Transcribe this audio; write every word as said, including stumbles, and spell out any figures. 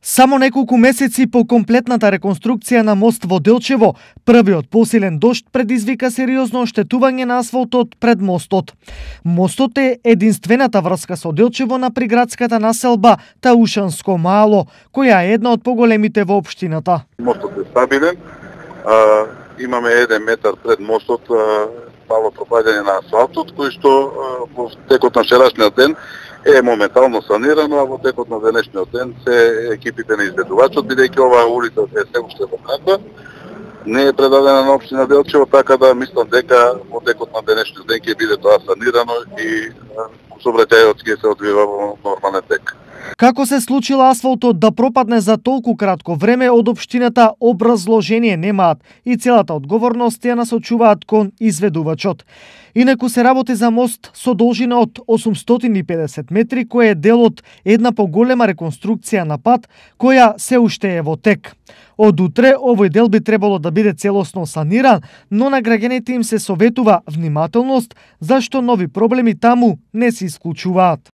Само неколку месеци по комплетната реконструкција на мост во Делчево, првиот посилен дожд предизвика сериозно оштетување на асфалтот пред мостот. Мостот е единствената врска со Делчево на приградската населба Таушанско мало, која е една од поголемите во општината. Мостот е стабилен, а, имаме еден метар пред мостот а, мало пропаѓање на асфалтот, кој што а, во текот на вчерашниот ден е моментално санирано, а во текот на денешниот ден се екипите на изведувачот, бидејќи оваа улица е се уште во кратка, не е предадена на општина Делчево, така да мислам дека во текот на денешниот ден ќе биде тоа санирано и сообраќајот ќе се одвива во нормален тек. Како се случило асфалтот да пропадне за толку кратко време од општината, образложение немаат и целата одговорност ја насочуваат кон изведувачот. Инаку се работи за мост со должина од осумстотини и педесет метри, кој е дел од една поголема реконструкција на пат, која се уште е во тек. Од утре овој дел би требало да биде целосно саниран, но на граѓаните им се советува внимателност, зашто нови проблеми таму не се исклучуваат.